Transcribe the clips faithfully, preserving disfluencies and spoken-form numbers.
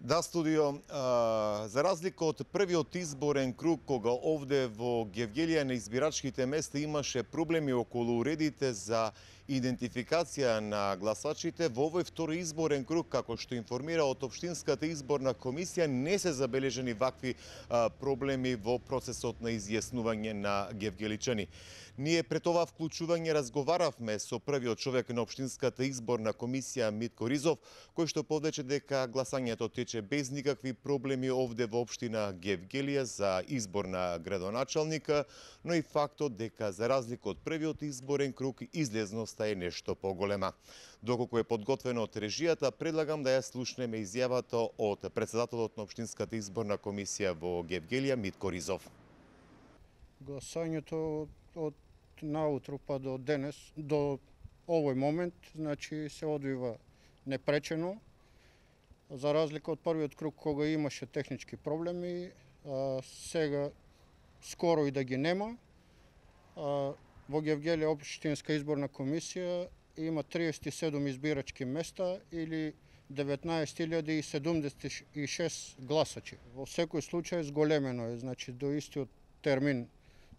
Да, студио, а, за разлика од првиот изборен круг, кога овде во Гевгелија на избирачките места имаше проблеми околу уредите за идентификација на гласачите, во овој втори изборен круг, како што информира од Општинската изборна комисија, не се забележани вакви а, проблеми во процесот на изјаснување на гевгеличани. Ние пред ова вклучување разговаравме со првиот човек на Општинската изборна комисија Митко Ризов, кој што повеќе дека гласањето тече без никакви проблеми овде во општина Гевгелија за избор на градоначалника, но и фактот дека за разлика од првиот изборен круг излезноста е нешто поголема. Доколку е подготвено од режијата, предлагам да ја слушнеме изјавата од председателот на Општинската изборна комисија во Гевгелија Митко Ризов. Гласањето од наутро па до денес, до овој момент, значи се одвива непречено. За разлика од првиот круг кога имаше технички проблеми, а, сега скоро и да ги нема. А, во Гевгелија Општинска изборна комисија има триесет и седум избирачки места или деветнаесет илјади седумдесет и шест гласачи. Во секој случај зголемено е, значи до истиот термин,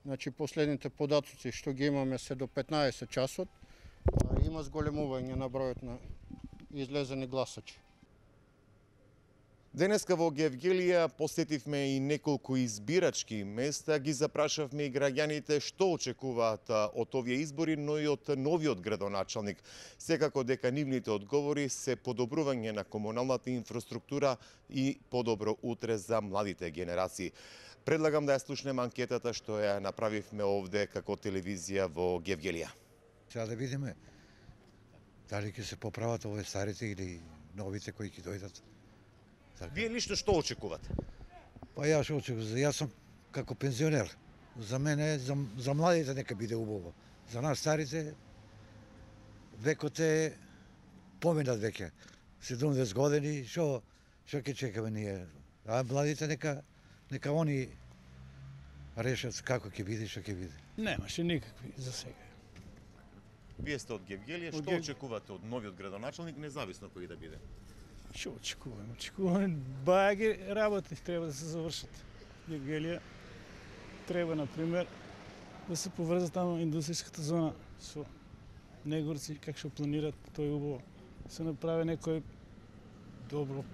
значи последните податоци што ги имаме се до петнаесет часот, а, има зголемување на бројот на излезени гласачи. Денеска во Гевгелија посетивме и неколку избирачки места, ги запрашавме и граѓаните што очекуваат од овие избори, но и од новиот градоначалник. Секако дека нивните одговори се подобрување на комуналната инфраструктура и подобро утре за младите генерации. Предлагам да ја слушнеме анкетата што ја направивме овде како телевизија во Гевгелија. Сега да видиме дали ќе се поправат овие старите или новите кои ќе дојдат. Вие лично што очекувате? Па јас што очекувам, јас сум како пензионер. За мене, за, за младите нека биде убаво. За нас старите векот е поминат веќе. седумдесет години, што што ќе чекаме ние? А младите нека нека они решат како ќе биде, што ќе биде. Немаше никакви за сега. Вие сте од Гевгелија, што Гев... очекувате од новиот градоначалник, независно кој да биде? Што очекуваме? Очекуваме баги работи треба да се завршат. Гевгелија треба, например, да се поврза таму индустријската зона со Негорци, как што планират, тој убаво. Се направи некој добро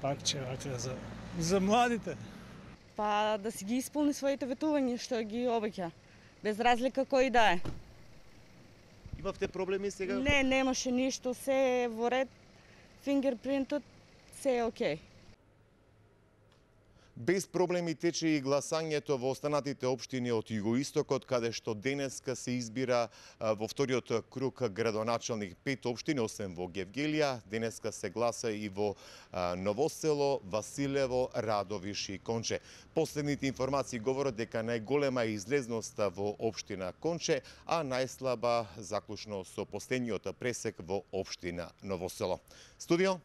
пакче вака за за младите. Па да си ги исполни своите ветувања што ги обеќа, без разлика кој да е. Имавте проблеми сега? Не, немаше ништо, се е во ред. Фингерпринтот, се е окей. Без проблеми тече и гласањето во останатите општини од југоистокот, каде што денеска се избира во вториот круг градоначалник. Пет општини, освен во Гевгелија, денеска се гласа и во Новосело, Василево, Радовиш и Конче. Последните информации говорат дека најголема е излезноста во општина Конче, а најслаба заклучно со последниот пресек во општина Новосело. Студио?